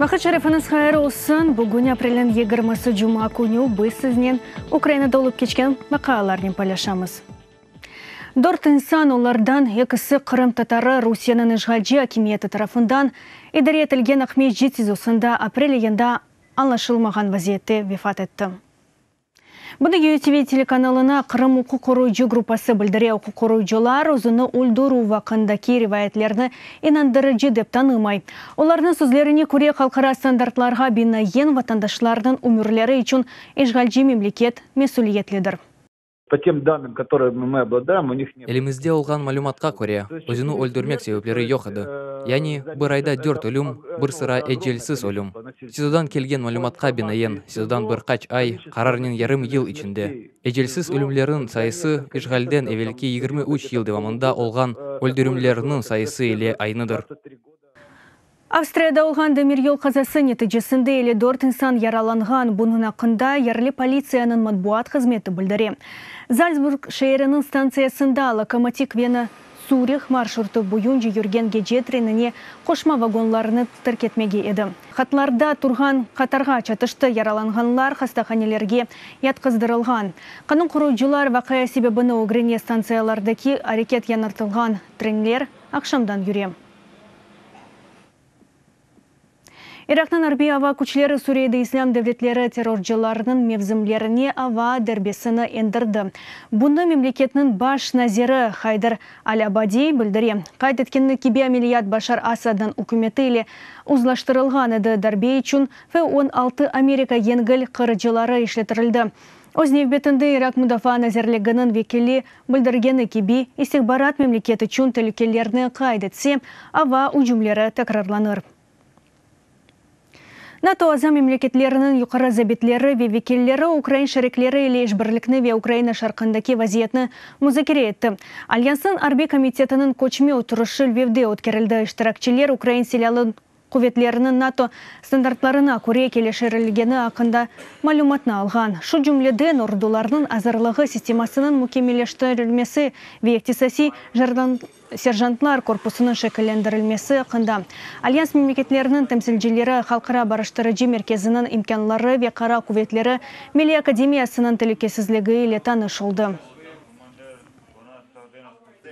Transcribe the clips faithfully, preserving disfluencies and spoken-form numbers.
Vaqıt şerifiñiz hayır olsun. Bugün aprelniñ yigirmisi cuma künü biz siznen Ukrainada olıp keçken vaqialarnen paylaşamız. Dört insan, olardan ekisi qırımtatarı, Rusiyeniñ işğalci akimiyeti tarafından idare etilgen Aqmescit SİZOsında aprel ayında añlaşılmağan vaziyette vefat etti. Bunı U T V telekanalına Qırım uquq qoruyıcı gruppası bildire. Uquq qoruyıcılar özüni öldürüv aqqındaki rivayetlerni inandırıcı dep tanımay. Olarnıñ sözlerine köre, halqara standartlarğa binaen vatandaşlarnıñ ömürleri içün işğalci memleket mesüliyetlidir. По тем данным, которые мы обладаем, у них не Elimizde olğan malümatqa köre, özüni öldürmek sebepleri yoq edi. Yani bir ayda dört ölüm, bir sıra ecelsiz ölüm. SİZOdan kelgen malümatqa binaen, SİZOdan bir qaç ay, qararnen yarım yıl içinde. Ecelsiz ölümlerniñ sayısı işğalden evelki yigirmi üç yıl devamında olğan öldürüvlerniñ sayısı ile aynıdır. Avstriyada olğan demiryol qazası neticesinde elli dört insan yaralanğan. Bunıñ aqqında yerli politsiyanıñ matbuat hızmeti bildire. Zalzburg şeeriniñ stantsiyasında lokomotiv Vena Tsürih marşrutı boyunca yürgen gece trenine qoşma vagonlarını terk etmege edi. Hatlarda turğan qatarğa çatıştı, yaralanğanlar hastahanelerge yatqızdırılğan. Qanun qoruyıcılar vaqia sebebini ögrene. Stantsiyalardaki areket yañartılğan, trenler aqşamdan yüre. Iraqnıñ arbiy ava küçleri Suriyede İslâm devletleri terrorcılarınıñ mevzimlerine ava darbesini endirdi. Bunı memleketniñ baş naziri Hayder al-Abadi bildire. Qayd etkeni kibi, ameliyat Başar Asadnıñ ükümeti ile uzlaştırılğan edi. Darbe içün F on altı Amerika yengil qırıcıları işletildi. Öz nevbetinde Iraq Mudafaa nazirliginiñ vekili bildirgeni kibi, istihbarat memleket içün telükelerni qayd etse, ava ücümleri tekrarlanır. NATO aza memleketleriniñ yuqarı zabitleri ve vekilleri ukrain şerikleri ile işbirlikni ve Ukraina şarqındaki vaziyetni muzakere etti. Alyansnıñ arbiy komitetiniñ köçme oturışı Lvivde ötkerildi. İştirakçiler ukrain silâlı quvetleriniñ NATO standartlarına köre keliştirilgeni aqqında malümatnı alğan. Şu cümleden ordularnıñ azırlığı sistemasınıñ mükemmelleştirilmesi ve ihtisasiy serjantlar korpusınıñ şekillendirilmesi aqqında. Alyans memleketleriniñ temsilcileri Halqara barıştırıcı merkeziniñ imkânları ve Qara quvetleri Milliy akademiyasınıñ telükesizligi ile tanış oldı.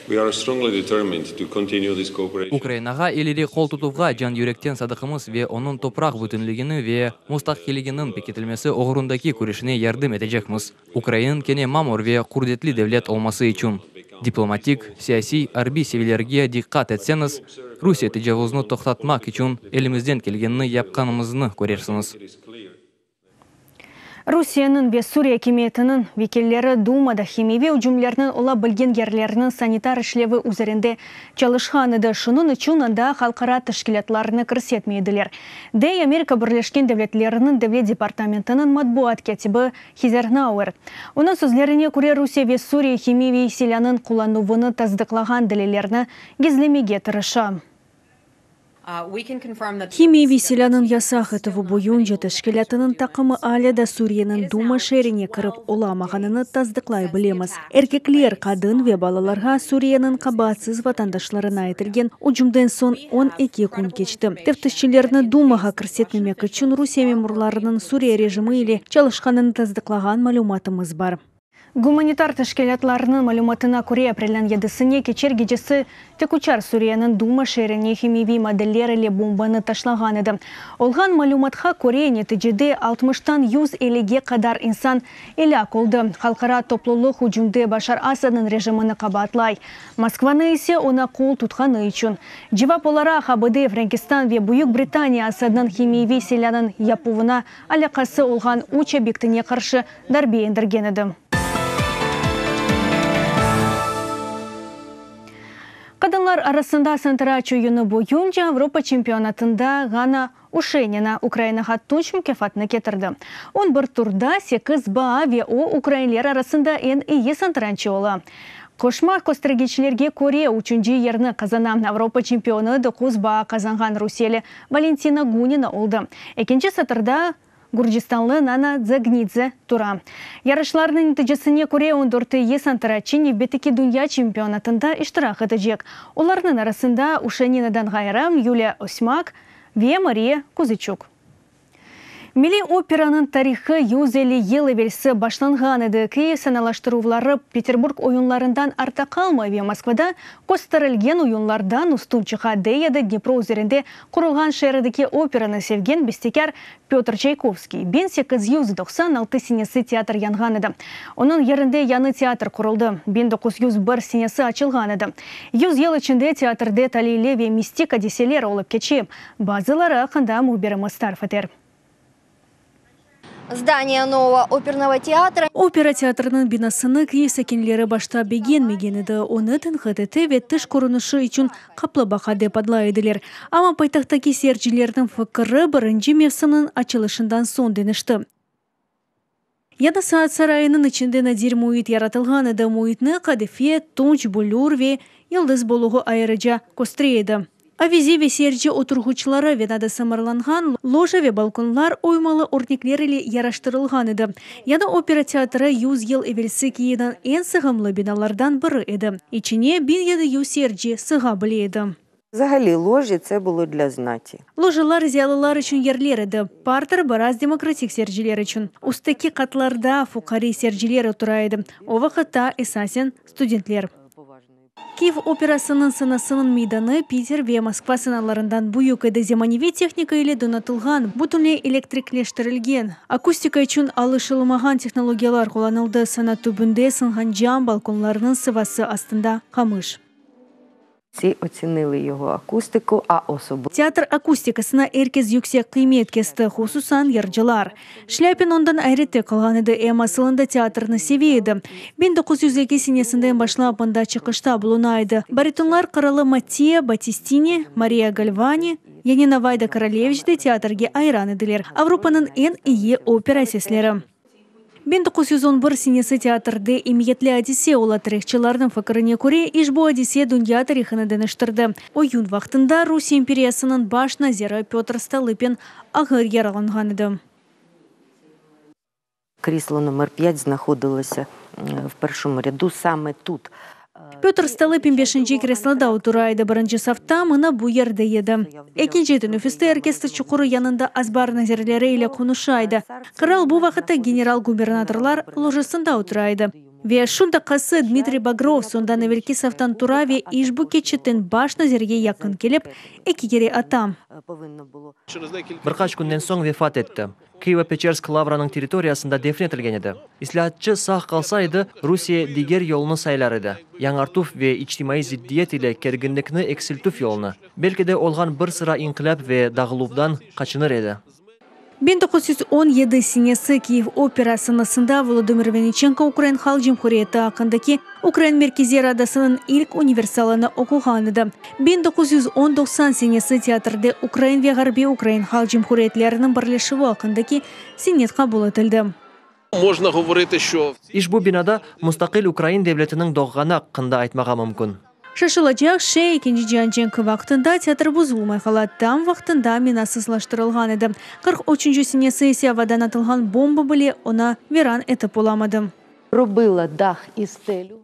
We are strongly determined to continue this cooperation. Ukrainağa ileri qol tutuvğa can yürekten sadıqmız ve onıñ topraq bütünligini ve mustaqilliginiñ pekitilmesi oğrundaki küreşine yardım etecekmiz. Ukrainanıñ kene mamur ve qudretli devlet olması içün. Diplomatik, siyasiy, arbiy seviyelerge diqqat etseñiz, Rusiye tecavuzını toqtatmaq içün elimizden kelgenini yapqanımıznı körersiñiz. It is clear Rusiyeniñ ve Suriye akimiyetiniñ vekilleri Dumada himiyeviy ücümlerniñ ola bilgen yerleriniñ sanitar işlevi üzerinde çalışqan edi. Şunıñ içün anda halqara teşkilâtlarını kirsetmey ediler. Dey Amerika Birleşken Devletleriniñ Devlet departamentiniñ matbuat kâtibi Heather Nauert. Onıñ sözlerine köre, Rusiye ve Suriye himiyeviy silânıñ qullanuvını tasdıqlağan delillerni gizlemege tırışa. Himiyeviy silânıñ yasaq etüvi boyunca teşkilâtınıñ taqımı alâ da Suriyeniñ Duma şeerine kirip olamağanını tasdıqlay bilemiz. Erkekler, qadın ve balalarğa, Suriyeniñ qabaatsız vatandaşlarına etilgen ücümden soñ on eki kün keçti. Teftişçilerni Dumağa kirsetmemek içün Rusiye memurlarınıñ Suriye rejimi ile çalışqanını tasdıqlağan malümatımız bar. Gumanitar teşkilâtlarınıñ malümatına köre, aprelniñ yedisine keçer gecesi tikuçar Suriyeniñ Duma şeerine himiyeviy maddeler ile bombanı taşlağan edi. Olğan malümatqa köre, neticede altmıştan yüz ellige qadar insan elâk oldı. Halqara toplulıq ücümde Başar Asadnıñ rejimini qabaatlay. Moskvanı ise oña qol tutqanı içün. Cevap olaraq A B D, Frenkistan ve Büyük Britaniya Asadnıñ himiyeviy silânıñ yapuvına alâqası olğan üç obyektine qarşı darbe endirgen edi. Qadınlar arasında santıraç oyunı boyunca Avropa çempionatında Ganna Uşenina Ukrainağa tunç mukâfatını ketirdi. On bir turda sekiz baa ve o ukrainler arasında eñ eyi santıraççı ola. Qoşma köstergiçlerge köre üçünci yerni qazana. Avropa çempionı doquz baa qazanğan rusiyeli Valentina Gunina oldı. Ekinci satırda Gürcistanlı Nana Dzagnidze tura. Yarışlarnıñ neticesine köre on dört eyi santıraççı nevbetteki dünya çempionatında iştirak etecek. Olarnıñ arasında Uşeninadan ğayrı Yuliya Osmak, Ve Mariya Kuziçuk. Milliy operanıñ tarihı yüz elli yıl evelsi başlanğan edi. Kiyev sanalaştıruvları Peterburg oyunlarından artta qalmay ve Moskvada kösterilgen oyunlardan üstün çıqa, dey edi Dnipro üzerinde qurulğan şeerdeki operanı sevgen bestekâr Pötr Çaykovskiy. biñ sekiz yüz doqsan altı senesi teatr yanğan edi. Onıñ yerinde yañı teatr quruldı. biñ doquz yüz bir senesi açılğan edi. Yüz yıl içinde teatrde taliyli ve mistik adiseler olıp keçe. Bazıları aqqında mühbirimiz tarif eter. Здание нового оперного театра. Opera teatrınıñ binasını Kiyev sakinleri başta begenmegen edi. Onı tenqit ete ve tış körünişi içün qaplıbaqa dep adlay ediler. Amma paytahttaki seyircilerniñ fikri birinci mevsimniñ açılışından soñ deñişti. Yañı saat sarayınıñ içinde nadir müit yaratılğan edi. Müitni qadife, tunç, büllür ve yıldız boluğı ayrıca köstere edi. Avize ve seyirci oturğıçları Venada sımarlanğan loja ve balkonlar oymalı örnekler ile yaraştırılğan edi. Yañı opera teatrı yüz yıl evelsi Kiyevniñ eñ sığımlı binalardan biri edi. İçine biñ yedi yüz seyirci sığa bile edi. Взагалі ложі це було для знаті. Lojalar ziyalılar içün yerler edi. Parter biraz demokratik seyirciler içün. Üstteki qatlarda fuqare seyirciler otura edi. O vaqıtta esasen studentler. Kiyev operasınıñ sanasınıñ meydanı Piter ve Moskva sanalarından büyük edi. Zemaneviy tehnika ile donatılğan, bütünley elektrikleştirilgen. Akustika içün alışılmağan tehnologiyalar qullanıldı. Sana tübünde sınğan cam balkonlarnıñ sıvası astında qamış. Всі оцінили його акустику, а особливо Teatr akustikasına er kes yüksek qıymet kesti, hususan yırcılar. Şlâpin ondan ayrette qalğan edi, em asılında teatrnı seve edi. biñ doquz yüz eki senesinden başlap mında çıqışta buluna edi. Baritonlar qıralı Mattia Battistini, Mariya Galvani, Yanina Vayda Korolevich de teatrge ayran ediler. Avropanıñ eñ eyi opera sesleri. biñ doquz yüz on bir senesi teatrde emiyetli adise ola. Tarihçılarnıñ fikirine köre, işbu adise dünya tarihını deñiştirdi. Oyun vaqtında Rusiye imperiyasınıñ baş naziri Pötr Stolıpin ağır yaralanğan edi. Крісло номер п'ять знаходилося в першому ряду саме тут. Pötr Stolıpin beşinci kresloda otura edi. Birinci safta mına bu yerde edi. Ekinci teneffüste orkestr çuqurı yanında azbar nazirleri ile qonuşa edi. Qıral bu vaqıtta general-gubernatorlar lojasında otura edi. Ve şu daqqası Dmitriy Bagrov soñdan evelki saftan tura ve işbu keçitten baş nazirge yaqın kelip, eki kere ata. Bir qaç künden soñ vefat etti. Kıyıvo-Peçersk Lavranıñ territoriyasında defn etilgen edi. İslâatçı sağ qalsa edi, Rusiye diger yolunı saylar edi. Yañartuv ve içtimaiy zıddiyet ile kerginlikni eksiltüv yolunı. Belki de olğan bir sıra inqilâp ve dağıluvdan qaçınır edi. biñ doquz yüz on yedi senesi Kiyev opera sanasında Volodımır Vinniçenko Ukrain Halq Cumhuriyeti aqqındaki Ukrain Merkeziy Radasınıñ ilk universalını oquğan edi. biñ doquz yüz on doqsan senesi teatrde Ukrain ve Ğarbiy Ukrain Halq Cumhuriyetleriniñ birleşüvi aqqındaki senet qabul etildi. Можна говорити, що İşbu binada mustaqil Ukrain devletiniñ doğğanı aqqında aytmağa mümkün. Şaşılacaq şey, ekinci cian cenki vaqtında teatr bozulmay qala, tam vaqtında minasızlaştırılğan edi. Qırq üçünci senesi ise avadan atılğan bomba bile onı viran etip olamadı. Робила дах і стелю.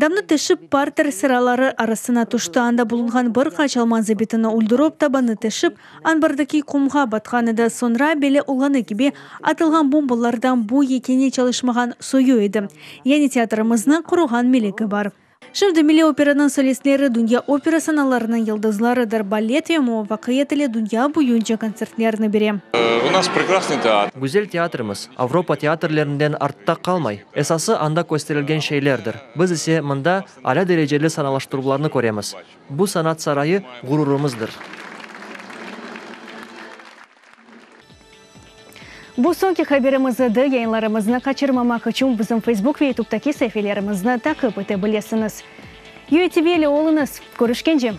Damnı teşip parter sıraları arasına tüşti. Anda bulunğan bir qaç alman zabitini öldürip, tabanı teşip, anbardaki qumğa batqan edi. Soñra belli olğanı kibi, atılğan bombalardan bu yekâne çalışmağan soyu edi. Yani teatrımıznı qoruğan meleki bar. Şimdi Milliy operanıñ solistleri dünya opera sanalarınıñ yıldızlarıdır. Balet ve muvafaqiyet ile dünya boyunca kontsertlerni bere. У нас прекрасный театр. Güzel teatrımız Avropa teatrlerinden artta qalmay. Esası anda kösterilgen şeylerdir. Biz ise mında alâ dereceli sanalaştıruvlarnı köremiz. Bu sanat sarayı ğururımızdır. Bu soñki haberimiz edi. Yayınlarımıznı qaçırmamaq içün bizim Facebook ve YouTube'daki saifelerimizni taqip ete bilesiñiz. U A T V ile oluñız. Körüşkence.